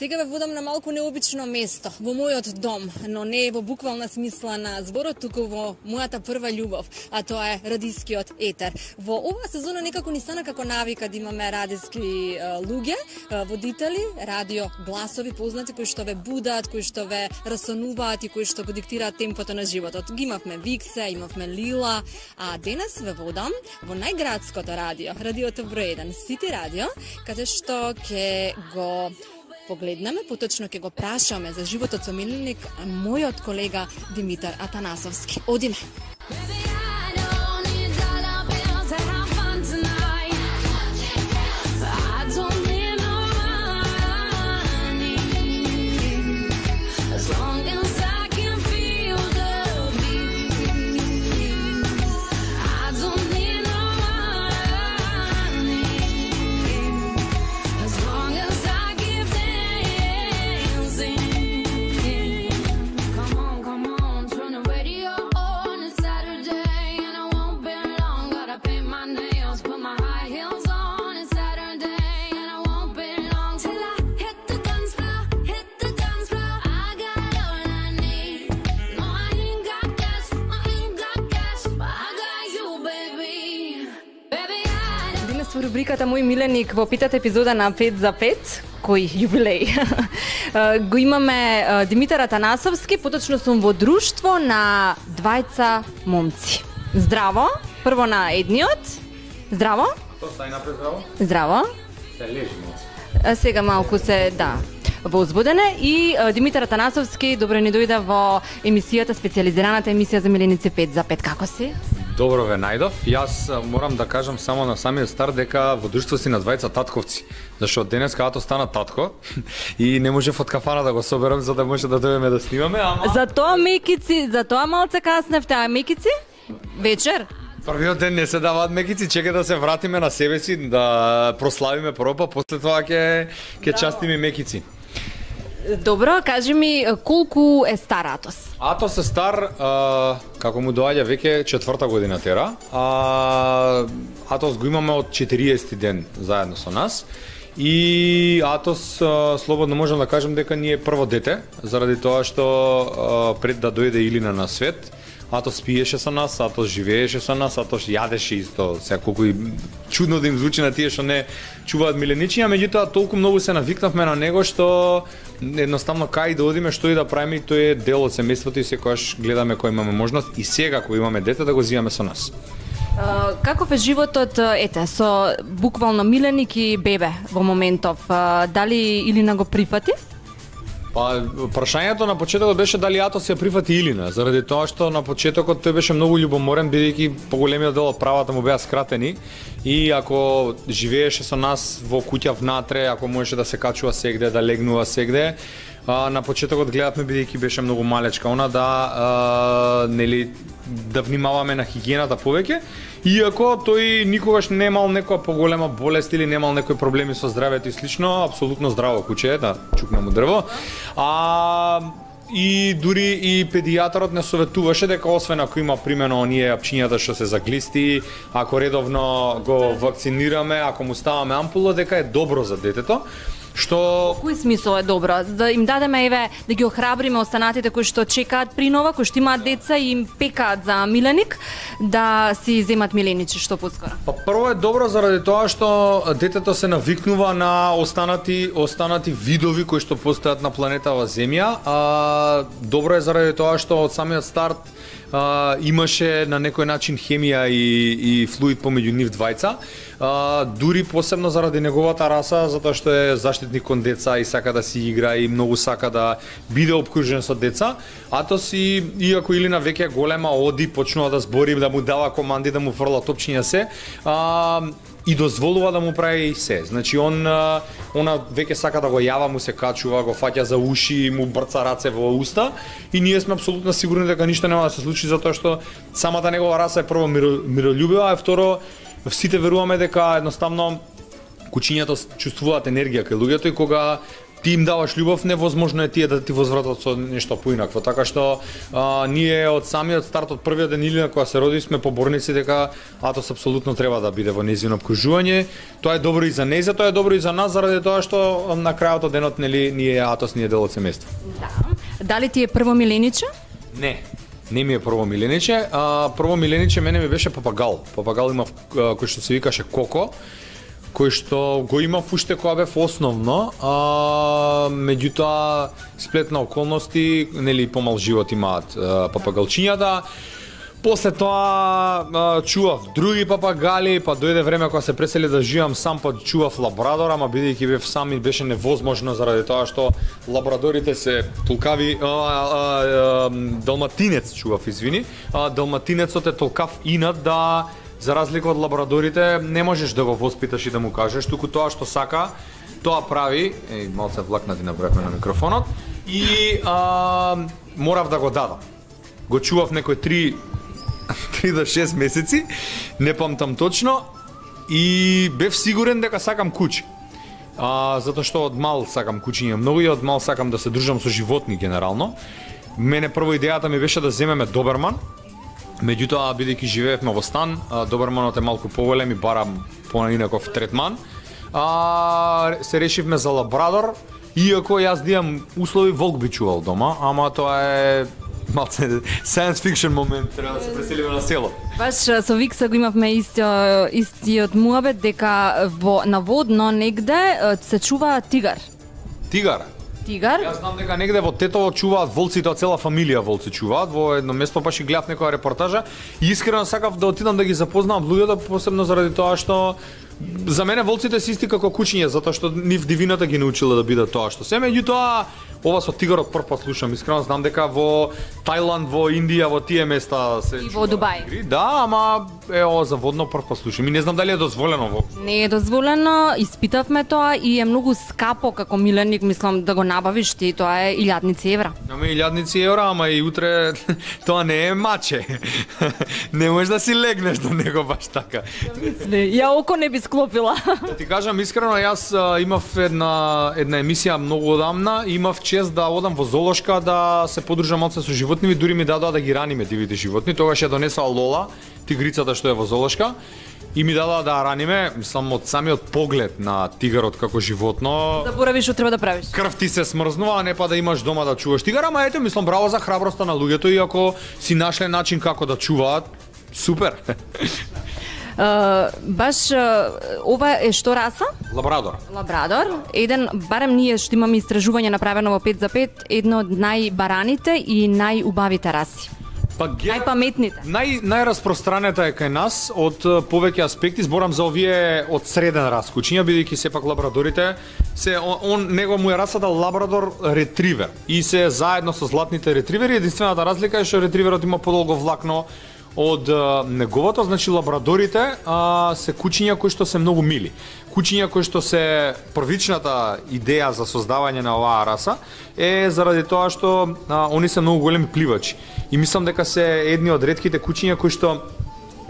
Сега ве водам на малку необично место, во мојот дом, но не во буквална смисла на зборот, туку во мојата прва љубов, а тоа е радискиот етер. Во оваа сезона некако ни стана како навика да имаме радиски луѓе, водители, радио гласови познати кои што ве будат, кои што ве расонуваат и кои што го диктираат темпото на животот. Ги имавме Виксе, имавме Лила, а денес ве водам во најградското радио, радиото број 1, Сити радио, каде што ќе го погледнеме, поточно ќе го прашаме за животот со миленик мојот колега Димитар Атанасовски. Одиме! Во рубриката Мој миленик во питата епизода на 5 за 5, кој јубилеј, го имаме Димитар Атанасовски, поточно сум во друштво на двајца момци. Здраво, прво на едниот. Здраво. Тоа стај напред, здраво. Здраво. Се лежи моци. Сега малку се, да, возбудене. И Димитар Атанасовски, добро ни дојде во емисијата, специјализираната емисија за миленици 5 за 5. Како си? Добро ве најдов. Јас морам да кажам само на самиот старт дека во друштво си на двајца татковци. Зашто денес кога стана татко и не можев од кафана да го соберам за да може да дојдеме да снимаме, ама Затоа мекици, затоа малце касневте, а мекици? Вечер? првиот ден не се даваат мекици, чека да се вратиме на себе си, да прославиме прво, па после тоа ќе частиме мекици. Добро, кажи ми колку е стар Атос? Атос е стар, како му доаѓа веќе 4-та година тера. Атос го имаме од 40 ден заедно со нас. И Атос, слободно можам да кажем дека ни е прво дете, заради тоа што пред да дојде Илина на свет, Атос пиеше со нас, Атос живееше со нас, Атос јадеше исто, секолку и чудно да им звучи на тие што не чуваат миленичиња, меѓутоа толку многу се навикнавме на него што едноставно кај да одиме, што и да правиме, тој е дел од семејството и секогаш гледаме кој имаме можност и сега кога имаме дете да го зимаме со нас. Каков е животот, со буквално миленик и бебе во моментов? Дали Илина го прифати? Па, прашањето на почетокот беше дали Атос ја прифати Илина, заради тоа што на почетокот тој беше многу љубоморен, бидејќи поголемиот дел од правата му беа скратени и ако живееше со нас во куќа внатре, ако можеше да се качува сегде, да легнува сегде, на почетокот гледавме бидејќи беше многу малечка она да внимаваме на хигиената повеќе, иако тој никогаш немал некоја поголема болест или немал некои проблеми со здравјето и слично, апсолутно здраво куче е, да чукне му дрво. И дури и педијатарот не советуваше дека освен ако има примено оние апчињата што се заглисти, ако редовно го вакцинираме, ако му ставаме ампула, дека е добро за детето. Што кој смисол е добро? Да им дадеме да ги охрабриме останатите кои што чекаат принова, кои што имаат деца и им пекаат за миленик, да си земат миленичи што поскоро. Па прво е добро заради тоа што детето се навикнува на останати видови кои што постојат на планетава Земја. Добро е заради тоа што од самиот старт имаше на некој начин хемија и флуид помеѓу нив двајца. Дури посебно заради неговата раса, затоа што е заштитник кон деца и сака да си игра и многу сака да биде обкружен со деца. Атос иако Илина веќе голема оди, почнува да збори, да му дава команди, да му фрла топчиња се, и дозволува да му прави се. Значи она веќе сака да го јава, му се качува, го фаќа за уши, му брца раце во уста и ние сме апсолутно сигурни дека ништо нема да се случи затоа што самата негова раса е прво мирољубива, а второ сите веруваме дека едноставно кучињата чувствуваат енергија кај луѓето и кога ти им даваш љубов, невозможно е тие да ти возвратат со нешто поинакво. Така што ние од самиот старт, од првиот ден Илина кога се роди, сме поборници дека Атос апсолутно треба да биде во нејзино обкружување. Тоа е добро и за нејза, тоа е добро и за нас, заради тоа што на крајот од денот нели ние Атос ни е дел од семејство. Да. Дали ти е прво милениче? Не ми е прво милениче. Прво милениче мене ми беше папагал. Папагал имав кој што се викаше Коко, кој што го имав уште кога бев основно, меѓутоа сплет на околности, нели помал живот имаат папагалчињата. После тоа чував други папагали, па дојде време кога се пресели да живеам сам, па чував лабрадор, ама бидејќи бев сам и беше невозможно заради тоа што лабрадорите се толкави, далматинец чував, извини, далматинецот е толкав инат да за разлика од лабрадорите не можеш да го воспиташ и да му кажеш, туку тоа што сака, тоа прави, малце влакнати направивме на микрофонот, и морав да го дадам. Го чував некој 3 до 6 месеци, не памтам точно, и бев сигурен дека сакам куче. Затоа што од мал сакам кучиња многу и од мал сакам да се дружам со животни генерално. Мене прво идејата ми беше да земеме доберман, меѓутоа бидејќи живеевме во стан, доберманот е малку поголем и барам поинаков третман. Се решивме за лабрадор, иако јас имам услови, волк би чувал дома, ама тоа е малце science fiction момент, треба да се преселиме на село. Баш со Викса го имавме истиот муабет дека наводно негде се чува тигар. Тигар? Јас знам дека негде во Тетово чуваат волци, тоа цела фамилија волци чуваат. Во едно место баш и гледав некоја репортажа и искрено сакав да отидам да ги запознавам луѓето, посебно заради тоа што за мене волците се исти како кучиња, затоа што нив дивината ги научила да бидат тоа што се. Меѓутоа, ова со тигарот прв пат слушам, искрено знам дека во Тајланд, во Индија, во тие места се и во Дубај. Да, ама ова за водно прв пат слушам и не знам дали е дозволено воопшто. Не е дозволено, испитавме тоа и е многу скапо како миленик, мислам да го набавиш ти, тоа е 1000 евра. Ама 1000 евра, ама и утре тоа не е маче. Не можеш да си легнеш до него баш така. Ја око не би склопила. Да ти кажам искрено, јас имав една емисија многу одамна, имав чест да одам во зоолошка да се подружам малце со животни, дури ми дадоа да ги раниме дивите животни. Тогаш ја донесоа Лола, тигрицата што е во зоолошка, и ми дадоа да раниме, мислам од самиот поглед на тигарот како животно. Заборавиш што треба да правиш. Крв ти се смрзнува, а не па да имаш дома да чуваш тигар, ама ете, мислам браво за храброста на луѓето и ако си нашле начин како да чуваат, супер. Баш ова е што раса? Лабрадор. Лабрадор. Еден, барем ние што имаме истражување направено во 5 за 5, едно од најбараните и најубавите раси. Најпаметните. Најраспространета е кај нас од повеќе аспекти, зборам за овие од среден рас кучиња, бидејќи сепак лабрадорите него му е расата лабрадор ретривер и се заедно со златните ретривери. Единствената разлика е што ретриверот има подолго влакно од неговото, значи лабрадорите се кучиња кои што се многу мили. Кучиња кои што се првичната идеја за создавање на оваа раса е заради тоа што они се многу големи пливачи. И мислам дека се едни од ретките кучиња кои што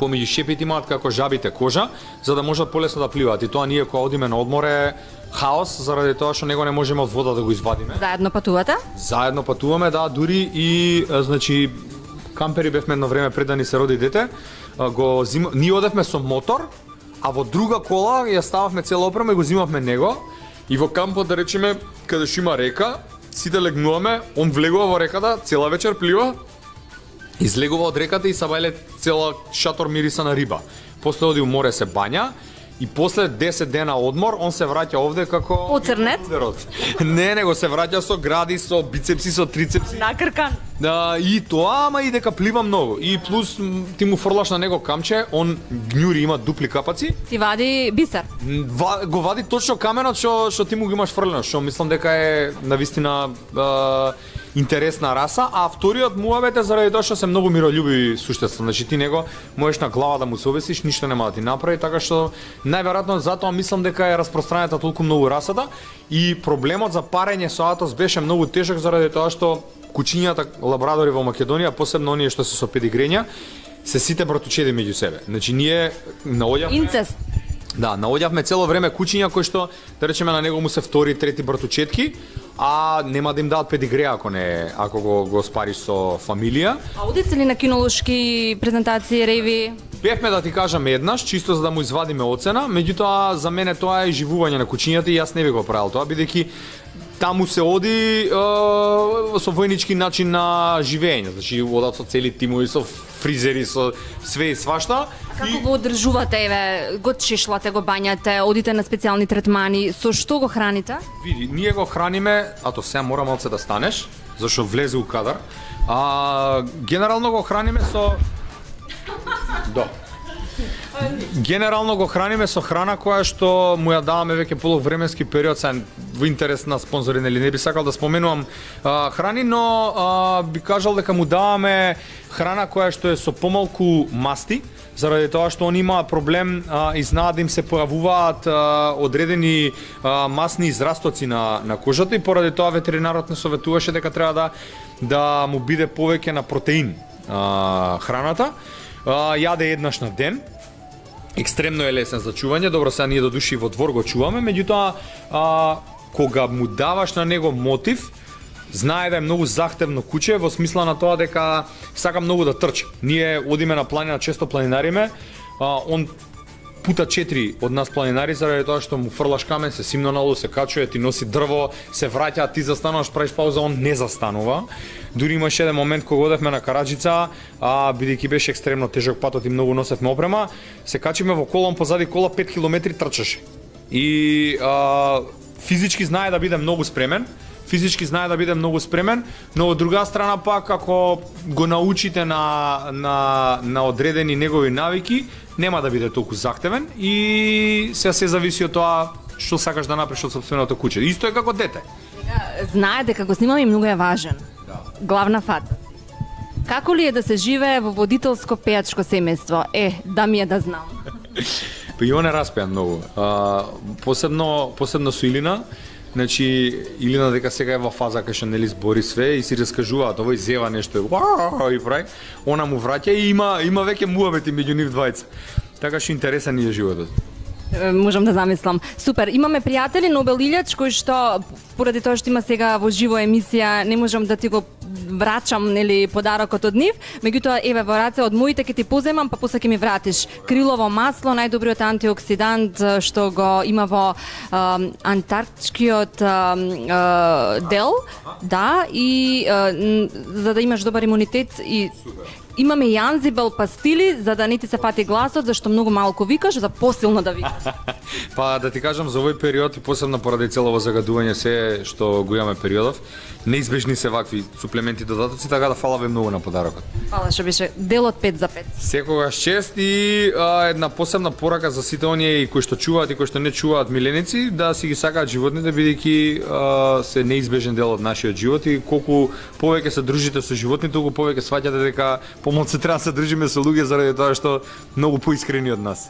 помеѓу шепите имаат како жабите кожа, за да можат полесно да пливаат. И тоа ние кога одиме на одмор е хаос, заради тоа што него не можеме од вода да го извадиме. Заедно патувате? Заедно патуваме, да, дури и значи кампери бевме едно време пред да ни се роди дете, ние одевме со мотор, а во друга кола ја стававме цела опрема и го зимавме него, и во кампот, да речеме, каде што има река, сите легнуваме, он влегува во реката, цела вечер плива, излегува од реката и сабајле цела шатор мириса на риба. После оди у море се бања, и после 10 дена одмор, он се враќа овде како... Оцрнет? Не, него се враќа со гради, со бицепси, со трицепси. Накркан. И тоа, ама и дека плива многу. И плюс ти му фрлаш на него камче, он гњури, има дупли капаци. Ти вади бисер. Го вади точно каменот што ти му го имаш фрлено, што мислам дека е навистина интересна раса, а вториот муабет е заради тоа што се многу мирољубиви суштества. Значи ти него можеш на глава да му се обесиш, ништо нема да ти направи, така што најверојатно затоа мислам дека е распространета толку многу расата и проблемот за парење со Атос беше многу тежок заради тоа што кучињата лабрадори во Македонија, посебно оние што се со педигрења, се сите братучеди меѓу себе. Значи ние наоѓавме инцест. Да, наоѓавме цело време кучиња кои што, да речеме, на него му се втори, трети братучетки, а нема да им дадат педигре ако го спариш со фамилија. А одите ли на кинолошки презентации, реви? Бевме, да ти кажам, еднаш, чисто за да му извадиме оцена, меѓутоа за мене тоа е живување на кучињата и јас не би го правил тоа, бидејќи таму се оди со војнички начин на живење, значи одат со цели тимови, со фризери, со све и свашта. Како го одржувате, еве, го чешлате, го бањате, одите на специјални третмани, со што го храните? Види, ние го храниме, ато сега мора малце да станеш, зашто влезе у кадар. Генерално го храниме со... Да. Генерално го храниме со храна која што му ја даваме веќе полувременски период, са во интерес на спонзори, нели не би сакал да споменувам храни, но би кажал дека му даваме храна која што е со помалку масти, заради тоа што они имаат проблем и знаат да им се појавуваат одредени масни израстоци на кожата и поради тоа ветеринарот не советуваше дека треба да му биде повеќе на протеин храната. Јаде еднаш на ден. Екстремно е лесен за чување, добро сега ние до души во двор го чуваме, меѓутоа кога му даваш на него мотив, знае да е многу захтевно куче во смисла на тоа дека сака многу да трчи. Ние одиме на планина, често планинариме, он пута 4 од нас планинари заради тоа што му фрлаш камен, се симно надолу, се качува, ти носи дрво, се враќа, ти застануваш, правиш пауза, он не застанува. Дури имаше еден момент кога одевме на Караџица, бидејќи беше екстремно тежок патот и многу носевме опрема, се качиме во кола, он позади кола 5 километри трчаше. И физички знае да биде многу спремен, но од друга страна пак ако го научите на одредени негови навики, нема да биде толку захтевен и се зависи од тоа што сакаш да направиш од сопственото куче. Исто е како дете. Знае дека го снимаме и многу е важен. Главна фата. Како ли е да се живее во водителско пејачко семејство? Да ми е да знам. И он е распеан многу. Посебно со Илина. Значи, Илина дека сега е во фаза кај што нели збори све и си раскажуваат, овој зева нешто и прави. Она му враќа и има веќе муабети меѓу нив двајца. Така што интересен е животот. Можам да замислам. Супер, имаме пријатели Нобел Илјач кои што поради тоа што има сега во живо емисија не можам да ти го врачам нели подарокот од нив, меѓутоа еве во раце од моите ќе ти поземам, па после ќе ми вратиш крилово масло, најдобриот антиоксидант што го има во антарктичкиот дел, да, и за да имаш добар имунитет и имаме и анзибел пастили за да не ти се фати гласот, зашто многу малку викаш, за посилно да викаш. Па да ти кажам за овој период и посебно поради целово загадување се што го имаме периодов, неизбежни се вакви суплементи додатоци, така да фала ви многу на подарокот. Фала што беше делот 5 за 5. Секогаш чест и една посебна порака за сите оние и кои што чуваат и кои што не чуваат миленици, да си ги сакаат животните бидејќи се неизбежен дел од нашиот живот и колку повеќе се дружите со животните, толку повеќе сваќате дека помалку треба да се дружиме со луѓе заради тоа што многу поискрени од нас.